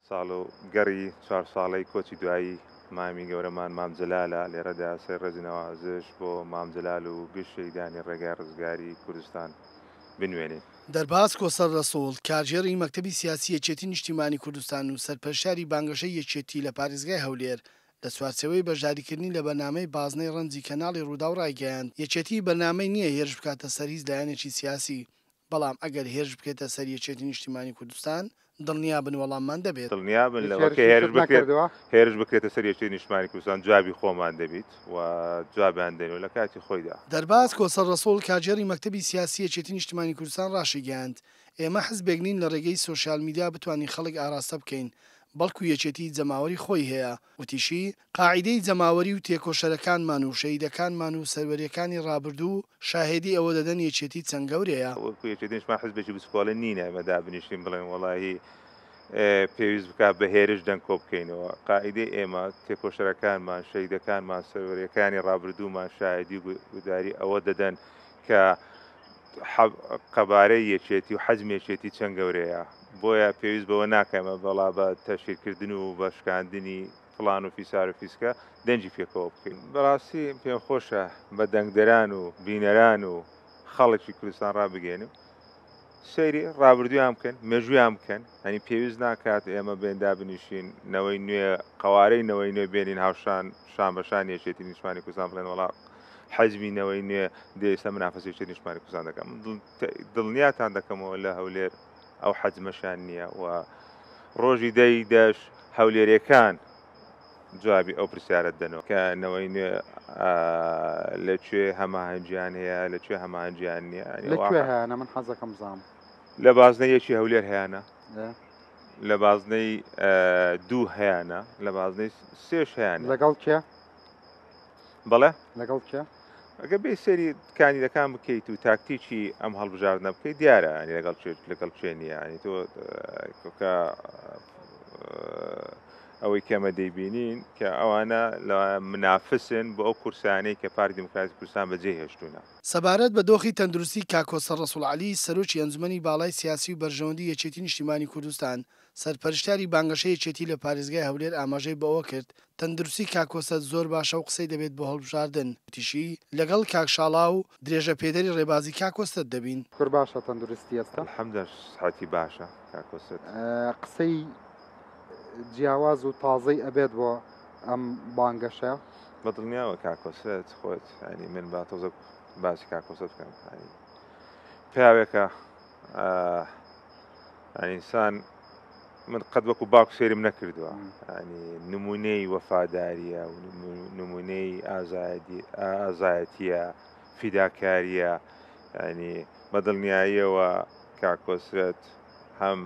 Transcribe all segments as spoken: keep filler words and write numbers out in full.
ساڵ و گەڕی چوار ساڵەی کۆچی دوایی مامی گەورەمان مام جەلالە. لێرەدا سەر ڕێزی نەوازش بۆ مام جەلال و گشت شەهیدانی ڕێگای ڕزگاری کوردستان بنوێنین. دەرباز کۆسەر رەسوڵ، کارگێڕی مەکتەبی سیاسی یەکێتی نیشتیمانی کوردستان و سەرپەرشتیاری بانگەشەی یەکێتی لە پارێزگای هەولێر، لە چوارچێوەی بەشداریکردنی لە بەرنامەی بازنەی رەنجی کەناڵی رووداو رایگەیاند، یەکێتی بەرنامەی نییە هێرش بکاتە سەر هیچ لایەنێکی سیاسی، بەڵام ئەگەر هێرش بکرێتە سەر یەکێتی نیشتیمانی کوردستان دڵنیابن وەڵاممان دەبێت. دڵنیابن لەوە کە هێرش بکرێت هێرش بکرێتە سەر یەکێتی نیشتمانی کوردستان جوابی خۆمان دەبیت و جوابیان دەین لە کاتی خۆیدا. دەرباز کۆسەر ڕەسوڵ، کارگێڕی مەکتەبی سیاسی یەکێتی نیشتمانی کوردستان ڕاشیگەیاند، ئێمە حزبێک نین لە ڕێگەی سۆشیال میدیا بتوانین خەڵک ئاراستە بکەین، بەڵکو یەکێتی جەماوەری خۆی هەیە. وتیشی، قاعیدەی جەماوەری و تێکۆشەرەکانمان و شەهیدەکانمان و سەروەریەکانی ڕابردوو شاهێدی ئەوە دەدەن یەکێتی چەند گەورەیە. وەکو یەکێتی نیشتمان حزبێکی بچکۆڵە نینە ئێمە دابنیشین بڵێن وەڵاهی پێویست بکات بە هێرش دەنگ کۆ بکەینەوە. قاعیدەی ئێمە، تێکۆشەرەکانمان، شەهیدەکانمان، سەروەریەکانی ڕابردوومان شاهێدی و گوداری ئەوە دەدەن کە قەبارەی یەکێتی و حەجمی یەکێتی چەند گەورەیە. بۆیە پێویست بەوە ناکەمە بەڵا بە تەشهیرکردن و بە شکاندنی فلان و فیسار و فیسکە دەنگی پێکەوە بکەین. بەڕاستی پێم خۆشە بە دەنگدەران و بینەران و خەڵکی کوردستان ڕابگەێنم سەیری ڕابردوویان بکەن، مێژوویان بکەن. هەنی پێویست ناکات ئێمە بێن دابنیشین نەوەی نوێ، قەوارەی نەوەی نوێ بێنین هاوشان شان بە شان یەکێتی نیشتمانی کوردستان بڵێن وەڵا حەجمی نەوەی نوێ دێ ئێستا منافەسەی یەکێتی نیشتمانی کوردستان دەکەم. دڵنیاتان دەکەمەوە لە هەولێر ئەو حەجمەشان نییە و ڕۆژی دەی دەش هەولێرەکان جوابی ئەو پرسیارەت دەنەوە کە نەوەی نوێ لەکوێ هەماهەنگیان هەیە، لەکوێ هەماهەنگیان نییە. لەکوێ هەیانە؟ من حەزەکەم بزانم. لە بازنەی یەکی هەولێر هەیانە، لە بازنەی دوو هەیانە، لە بازنەی سێش هەیانە. لەگەڵ کێ؟ بەڵێ؟ لەگەڵ کێ؟ ئەگەر بێ سەیری کاندیدەکان بکەیت و تاکتیکی ئەم هەڵبژاردنە بکەیت دیارە ینی لەگەڵ لەگەڵ کوێ نییە. ینی تۆ کە ئەوەی کەمە دەیبینین کە ئەوانە لە منافسن بۆ ئەو کورسانەی کە پارتی دیموکراتی کوردستان بەجێ هێشتوونە. سەبارەت بە دۆخی تەندروستی کاک کۆسەر ڕەسوڵ عەلی، سەرۆکی ئەنجومەنی باڵای سیاسی و بەرژەوەندی یەکێتی نیشتیمانی کوردستان، سەرپەرشتیاری بانگەشەی یەکێتی لە پارێزگای هەولێر ئاماژەی بەوە کرد، تەندروستی کاک کۆسەر زۆر باشە و قسەی دەبێت بۆ هەڵبژاردن. وتیشی، لەگەڵ کاک شاڵا و درێژە پێدەری ڕێبازی کاک کۆسەر دەبین. کور باشە تەندروستی ئێستا؟ الحەمدلله سحەتی باشە کاک کۆسەر. قسەی جیاواز و تازەی ئەبێت بۆ ئەم بانگەشە؟ بەدڵنیاوە کاک کۆسرەت خۆت، ینی من با تۆزە باسی کاک کۆسرەت بکەم. ینی پیاوێکە ئینسان من قەت وەکو باوک سێرم نەکردووە، ینی نمونەی وەفاداریە و نمونەی ئازایەتیە، فیداکاریە. ینی بەدڵنیاییەوە کاک کۆسرەت هەم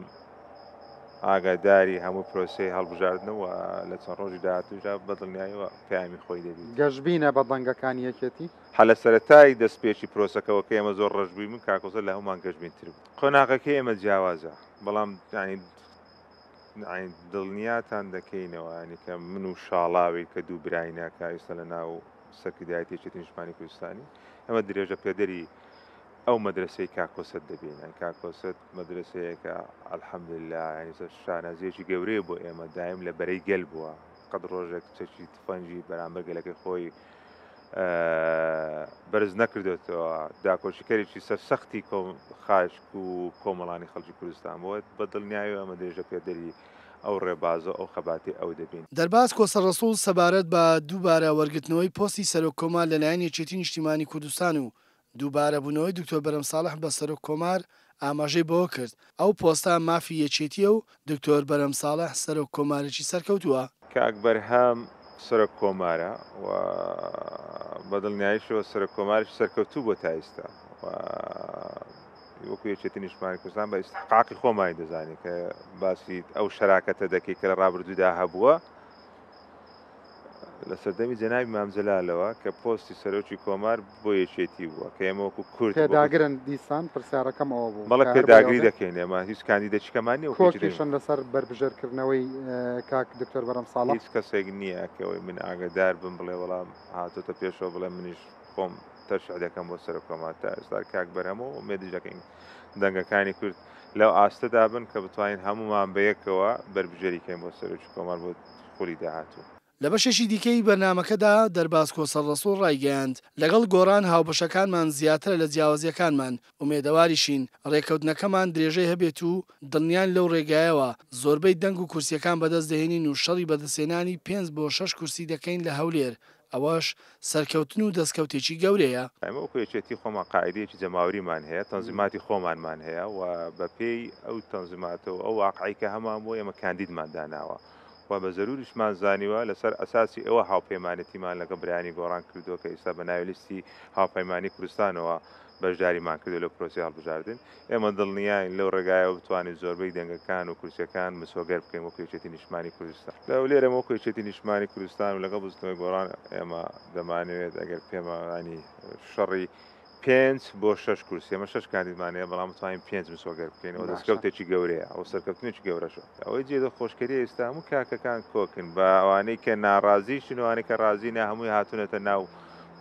ئاگاداری هەموو پرۆسەی هەڵبژاردنەوە لە چەند ڕۆژی داهاتووشدا بەدڵنیاییەوە پەیامی خۆی دەبیت. گەشبینە بە دەنگەکانی یەکێتی؟ هە لە سەرەتای دەستپێکی پرۆسەکەەوە کە ئێمە زۆر ڕەش بووین، من کاک کۆسرەت لە هەمومان گەشبینتر بوو. قۆناغەکەی ئێمە جیاوازە، بەڵام ینی دڵنیاتان دەکەینەوە ینی کە من و شاڵاوی کە دوو براینە کە ئێستا لە ناو سەرکردایەتی یەکێتی نیشتمانی کوردستانی، ئەمە درێژە پێدەری ئەو مەدرسەی کاک کۆسرەت دەبین. یعنی کاک کۆسرەت مەدرسەیەکە الحەمدلله یعنی شانازیەکی گەورەیە بۆ ئێمە، دایم لە بەرەی گەل بووە، قەت ڕۆژێک چەکی تفەنگی بەرامبەر گەلەکەی خۆی بەرز نەکردێتەوە. داکۆشیکەرێکی سەرسەختی خاک و کۆمەڵانی خەڵکی کوردستان بووە. بە دڵنیایی ئەمە درێژە پێدەری ئەو ڕێبازە ئەو خەباتی ئەو دەبین. دەرباز کۆسەر ڕەسوڵ سەبارەت بە دووبارە وەرگرتنەوەی پۆستی سەرۆک کۆمار لەلایەن یەکێتی نیشتیمانی کوردستان و دووبارە بوونەوەی دکتۆر بەرهەم ساڵح بە سەرۆک کۆمار ئاماژەی بەوە کرد، ئەو پۆستە مافی یەکێتیە و دکتۆر بەرهەم ساڵح سەرۆک کۆمارێکی سەرکەوتووە. کاک بەرهەم سەرۆک کۆمارە و بەدڵنیاییشەوە سەرۆک کۆمارێکی سەرکەوتوو بۆ تا ئێستا و وەکو یەکێتی نیشتمانی کوردستان بە ئیستحقاقی خۆمانی دەزانین کە باسی ئەو شەراکەتە دەکەی کە لە ڕابردوودا هەبووە لە سەردەمی جەنابی مام جەلالەوە کە پۆستی سەرۆکی کۆمار بۆ یەکێتی بووە کە ئێمە وەکو کورد پێداگرن. دیسان پرسیارەکەم ئەوە بوو بەڵێ پێداگری دەکەین، ئێمە هیچ کاندیدێکیکەمان نییە وەکو کۆکیشن لەسەر بەربژێرکردنەوەی کاک دکتۆر بەرهەم ساڵح؟ هیچ کەسێک نییە کە ئەوەی من ئاگادار بم بڵێ وەڵام هاتۆتە پێشەوە بڵێ منیش خۆم تەرشیح دەکەم بۆ سەرۆک کۆمار. تا ئێستا کاک بەرهەم و ئومێدیش دەکەین دەنگەکانی کورد لەو ئاستەدا بن کە بتوانین هەمومان بەیەکەوە بەربژێری کەین بۆ سەرۆکی کۆمار بۆ خولی داهاتوو. لە بەشێکی دیکەی بەرنامەکەدا دەرباز کۆسەر ڕەسوڵ ڕایگەیاند، لەگەڵ گۆڕان هاوبەشەکانمان زیاترە لە جیاوازیەکانمان، ئومێدەواریشین ڕێکەوتنەکەمان درێژەی هەبێت و دڵنیان لەو ڕێگایەوە زۆربەی دەنگ و کورسیەکان بەدەست دەهێنین و شەڕی بەدەستهێنانی پێنج بۆ شەش کورسی دەکەین لە هەولێر، ئەوەش سەرکەوتن و دەستکەوتێکی گەورەیە. ئێمە وەکو یەکێتی خۆمان قاعدەیەکی جەماوەریمان هەیە، تەنزیماتی خۆمانمان هەیە و بەپێی ئەو تەنزیماتە و ئەو واقعی کە هەمان بۆ ئێمە کاندیدمان داناوە و بە زەروریشمان زانیوە لەسەر ئەساسی ئەوە هاوپەیمانێتیمان لەگەڵ برایانی گۆڕان کردووە کە ئێستا بە ناوی لیستی هاوپەیمانی کوردستانەوە بەشداریمان کردو لە پرۆسەی هەڵبژاردن. ئێمە دڵنیاین لەو ڕێگایەوە بتوانین زۆربەی دەنگەکان و کورسیەکان مسۆگەر بکەین وەکو یەکێتی نیشتمانی کوردستان. لە هەولێر ئێمە وەکو یەکێتی نیشتمانی کوردستان و لەگەڵ بزوتنەوەی گۆڕان ئێمە دەمانەوێت ئەگەر پێمانی شەڕی پێنج بۆ شەش کورسی، ئێمە شەش کاندیدمان هەیە بەڵام بتوانین پێنج مسۆگەر بکەین. ئەوە دەستکەوتێکی گەورەیە، ئەو سەرکەوتنێکی گەورەشە. ئەوەی جێ دڵخۆشکەریە ئێستا هەموو کاکەکان کۆکن بە ئەوانەی کە ناڕازیشن و ئەوانەی کە ڕازی نا هەمووی هاتوونەتە ناو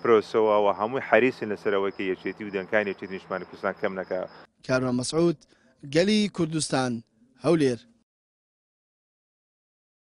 پرۆسەوە و هەمووی حەریسن لەسەر ئەوەی کە یەکێتی و دەنگانی یەکێتی نیشتمانی کوردستان کەم نەکا. کاروان مەسعود، گەلی کوردستان، هەولێر.